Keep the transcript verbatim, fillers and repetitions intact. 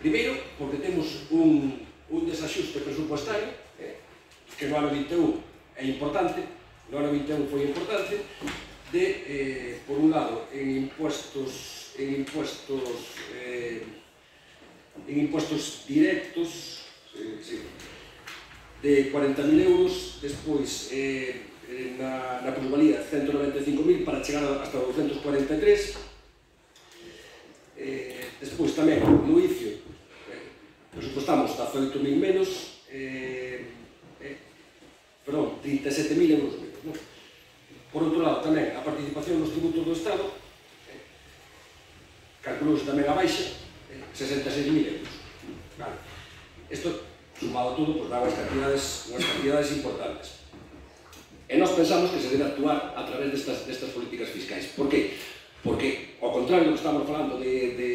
Primeiro, porque temos un, un desaxuste presupuestario, eh, que no ano vinte e un é importante, no ano vinte e un foi importante, de, eh, por un lado, en impuestos, en impuestos, eh, en impuestos directos, eh, sí, de cuarenta mil euros, despois eh, na, na plusvalía ciento noventa e cinco mil para chegar hasta doscientos cuarenta e tres. Eh, despois tamén no I C I O eh, presupostamos dezaoito mil menos, eh, eh, perdón, trinta e sete mil euros menos, non? Por outro lado, tamén a participación nos tributos do Estado eh, calculouse tamén a baixa, eh, sesenta e seis mil euros. Vale. Isto sumado todo, pues, dá unhas cantidades, unhas cantidades importantes. E nós pensamos que se debe actuar a través destas, destas políticas fiscais. Por qué? Porque, ao contrario do que estamos falando de, de